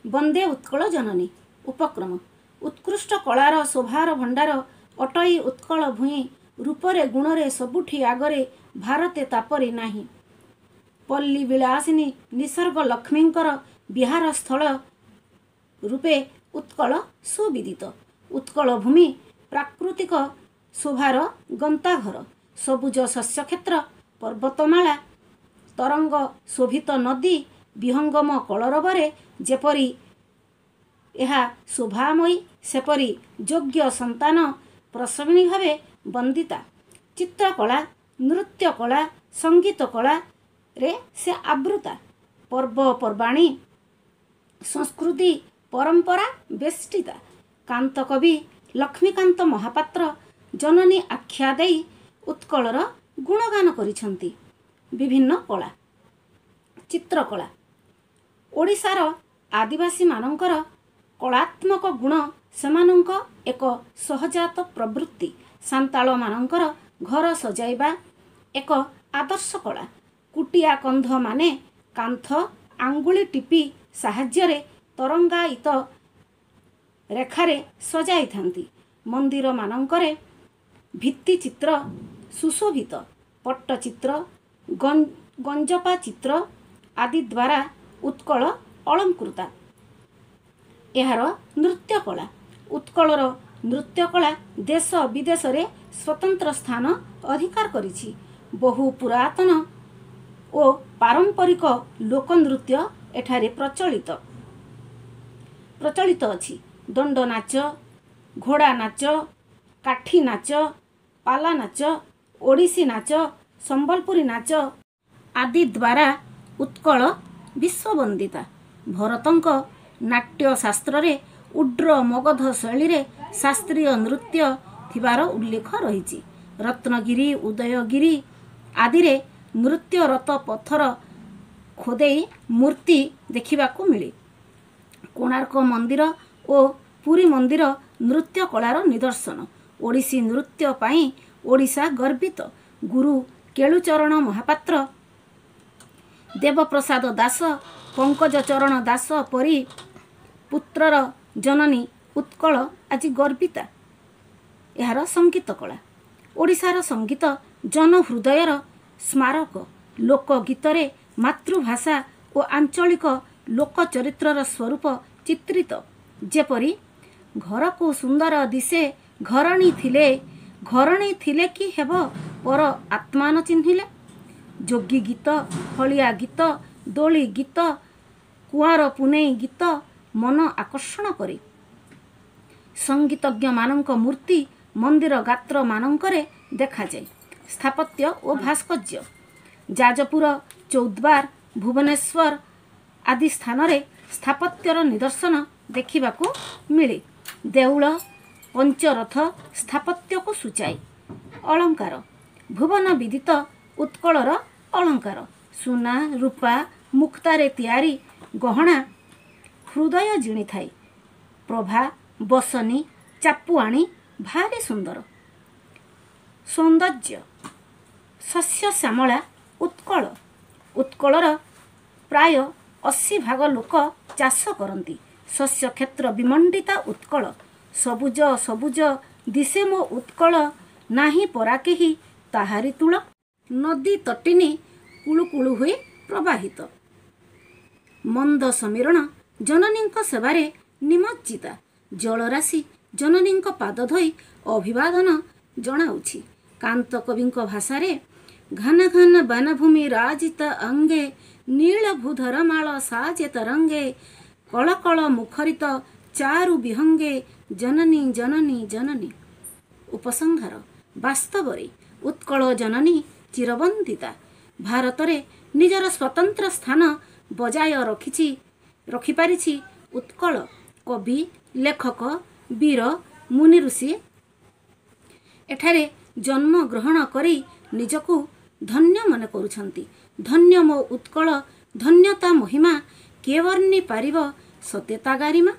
ବନ୍ଦେ ଉତ୍କଳ ଜନନୀ। ଉପକ୍ରମ। ଉତ୍କୃଷ୍ଟ କଳାର ଶୋଭାର ଭଣ୍ଡାର ଅଟଇ ଉତ୍କଳ ଭୂଇଁ। ରୂପରେ ଗୁଣରେ ସବୁଠି ଆଗରେ, ଭାରତେ ତାପରି ନାହିଁ। ପଲ୍ଲୀ ବିଳାସିନୀ ନିସର୍ଗ ଲକ୍ଷ୍ମୀଙ୍କର ବିହାର ସ୍ଥଳ ରୂପେ ଉତ୍କଳ ସୁବିଦିତ। ଉତ୍କଳ ଭୂମି ପ୍ରାକୃତିକ ଶୋଭାର ଗନ୍ତାଘର। ସବୁଜ ଶସ୍ୟକ୍ଷେତ୍ର, ପର୍ବତମାଳା, ତରଙ୍ଗ ଶୋଭିତ ନଦୀ, ବିହଙ୍ଗମ କଳରବରେ ଯେପରି ଏହା ଶୋଭାମୟୀ, ସେପରି ଯୋଗ୍ୟ ସନ୍ତାନ ପ୍ରସବିଣୀ ଭାବେ ବନ୍ଦିତା। ଚିତ୍ରକଳା, ନୃତ୍ୟକଳା, ସଙ୍ଗୀତ କଳାରେ ସେ ଆବୃତା। ପର୍ବପର୍ବାଣୀ, ସଂସ୍କୃତି ପରମ୍ପରା ବେଷ୍ଟିତା। କାନ୍ତ କବି ଲକ୍ଷ୍ମୀକାନ୍ତ ମହାପାତ୍ର ଜନନୀ ଆଖ୍ୟା ଦେଇ ଉତ୍କଳର ଗୁଣଗାନ କରିଛନ୍ତି। ବିଭିନ୍ନ କଳା। ଚିତ୍ରକଳା। ଓଡ଼ିଶାର ଆଦିବାସୀମାନଙ୍କର କଳାତ୍ମକ ଗୁଣ ସେମାନଙ୍କ ଏକ ସହଜାତ ପ୍ରବୃତ୍ତି। ସାନ୍ତାଳମାନଙ୍କର ଘର ସଜାଇବା ଏକ ଆଦର୍ଶ କଳା। କୁଟିଆ କନ୍ଧମାନେ କାନ୍ଥ ଆଙ୍ଗୁଳି ଟିପି ସାହାଯ୍ୟରେ ତରଙ୍ଗାୟିତ ରେଖାରେ ସଜାଇଥାନ୍ତି। ମନ୍ଦିରମାନଙ୍କରେ ଭିତ୍ତିଚିତ୍ର ସୁଶୋଭିତ। ପଟ୍ଟଚିତ୍ର, ଗଞ୍ଜପା ଚିତ୍ର ଆଦି ଦ୍ୱାରା ଉତ୍କଳ ଅଳଙ୍କୃତା। ଏହାର ନୃତ୍ୟକଳା। ଉତ୍କଳର ନୃତ୍ୟକଳା ଦେଶ ବିଦେଶରେ ସ୍ୱତନ୍ତ୍ର ସ୍ଥାନ ଅଧିକାର କରିଛି। ବହୁ ପୁରାତନ ଓ ପାରମ୍ପରିକ ଲୋକନୃତ୍ୟ ଏଠାରେ ପ୍ରଚଳିତ ଅଛି। ଦଣ୍ଡନାଚ, ଘୋଡ଼ା ନାଚ, କାଠି ନାଚ, ପାଲା ନାଚ, ଓଡ଼ିଶୀ ନାଚ, ସମ୍ବଲପୁରୀ ନାଚ ଆଦି ଦ୍ୱାରା ଉତ୍କଳ ବିଶ୍ୱବନ୍ଦିତା। ଭରତଙ୍କ ନାଟ୍ୟଶାସ୍ତ୍ରରେ ଉଡ୍ର ମଗଧ ଶୈଳୀରେ ଶାସ୍ତ୍ରୀୟ ନୃତ୍ୟ ଥିବାର ଉଲ୍ଲେଖ ରହିଛି। ରତ୍ନଗିରି, ଉଦୟଗିରି ଆଦିରେ ନୃତ୍ୟରତ ପଥର ଖୋଦେଇ ମୂର୍ତ୍ତି ଦେଖିବାକୁ ମିଳେ। କୋଣାର୍କ ମନ୍ଦିର ଓ ପୁରୀ ମନ୍ଦିର ନୃତ୍ୟ କଳାର ନିଦର୍ଶନ। ଓଡ଼ିଶୀ ନୃତ୍ୟ ପାଇଁ ଓଡ଼ିଶା ଗର୍ବିତ। ଗୁରୁ କେଳୁଚରଣ ମହାପାତ୍ର, ଦେବପ୍ରସାଦ ଦାସ, ପଙ୍କଜ ଚରଣ ଦାସ ପରି ପୁତ୍ରର ଜନନୀ ଉତ୍କଳ ଆଜି ଗର୍ବିତା। ଏହାର ସଙ୍ଗୀତ କଳା। ଓଡ଼ିଶାର ସଙ୍ଗୀତ ଜନହୃଦୟର ସ୍ମାରକ। ଲୋକଗୀତରେ ମାତୃଭାଷା ଓ ଆଞ୍ଚଳିକ ଲୋକଚରିତ୍ରର ସ୍ୱରୂପ ଚିତ୍ରିତ। ଯେପରି ଘରକୁ ସୁନ୍ଦର ଦିଶେ ଘରଣୀ ଥିଲେ, ଘରଣୀ ଥିଲେ କି ହେବ ପର ଆତ୍ମା ନ ଚିହ୍ନିଲେ। ଯୋଗୀ ଗୀତ, ହଳିଆ ଗୀତ, ଦୋଳି ଗୀତ, କୁଆଁର ପୁନେଇ ଗୀତ ମନ ଆକର୍ଷଣ କରେ। ସଙ୍ଗୀତଜ୍ଞମାନଙ୍କ ମୂର୍ତ୍ତି ମନ୍ଦିର ଗାତ୍ରମାନଙ୍କରେ ଦେଖାଯାଏ। ସ୍ଥାପତ୍ୟ ଓ ଭାସ୍କର୍ଯ୍ୟ। ଯାଜପୁର, ଚୌଦ୍ୱାର, ଭୁବନେଶ୍ୱର ଆଦି ସ୍ଥାନରେ ସ୍ଥାପତ୍ୟର ନିଦର୍ଶନ ଦେଖିବାକୁ ମିଳେ। ଦେଉଳ, ପଞ୍ଚରଥ ସ୍ଥାପତ୍ୟକୁ ସୂଚାଏ। ଅଳଙ୍କାର। ଭୁବନ ବିଦିତ ଉତ୍କଳର ଅଳଙ୍କାର। ସୁନା, ରୂପା, ମୁକ୍ତାରେ ତିଆରି ଗହଣା ହୃଦୟ ଜିଣିଥାଏ। ପ୍ରଭା, ବସନୀ, ଚାପୁଆଣି ଭାରି ସୁନ୍ଦର। ସୌନ୍ଦର୍ଯ୍ୟ। ଶସ୍ୟ ଶ୍ୟାମଳା ଉତ୍କଳ। ଉତ୍କଳର ପ୍ରାୟ 80 ଭାଗ ଲୋକ ଚାଷ କରନ୍ତି। ଶସ୍ୟ କ୍ଷେତ୍ର ବିମଣ୍ଡିତା ଉତ୍କଳ। ସବୁଜ ସବୁଜ ଦିଶେ ମୋ ଉତ୍କଳ, ନାହିଁ ପରା କେହି ତାହାରି ତୁଳ। ନଦୀ ତଟିନୀ କୁଳୁକୁଳୁ ହୋଇ ପ୍ରବାହିତ। ମନ୍ଦ ସମୀରଣ ଜନନୀଙ୍କ ସେବାରେ ନିମଜ୍ଜିତା। ଜଳରାଶି ଜନନୀଙ୍କ ପାଦ ଧୋଇ ଅଭିବାଦନ ଜଣାଉଛି। କାନ୍ତ କବିଙ୍କ ଭାଷାରେ ଘନ ଘନ ବନଭୂମି ରାଜିତ ଅଙ୍ଗେ, ନୀଳ ଭୂଧର ମାଳ ସାଜେ ତରଙ୍ଗେ, କଳ କଳ ମୁଖରିତ ଚାରୁ ବିହଙ୍ଗେ, ଜନନୀ ଜନନୀ ଜନନୀ। ଉପସଂହାର। ବାସ୍ତବରେ ଉତ୍କଳ ଜନନୀ ଚିରବନ୍ଦିତା। ଭାରତରେ ନିଜର ସ୍ୱତନ୍ତ୍ର ସ୍ଥାନ ବଜାୟ ରଖିପାରିଛି ଉତ୍କଳ। କବି, ଲେଖକ, ବୀର, ମୁନି ଋଷି ଏଠାରେ ଜନ୍ମ ଗ୍ରହଣ କରି ନିଜକୁ ଧନ୍ୟ ମନେ କରୁଛନ୍ତି। ଧନ୍ୟ ମୋ ଉତ୍କଳ, ଧନ୍ୟତା ମହିମା, କିଏ ବର୍ଣ୍ଣି ପାରିବ ସତେ ତା ଗାରିମା।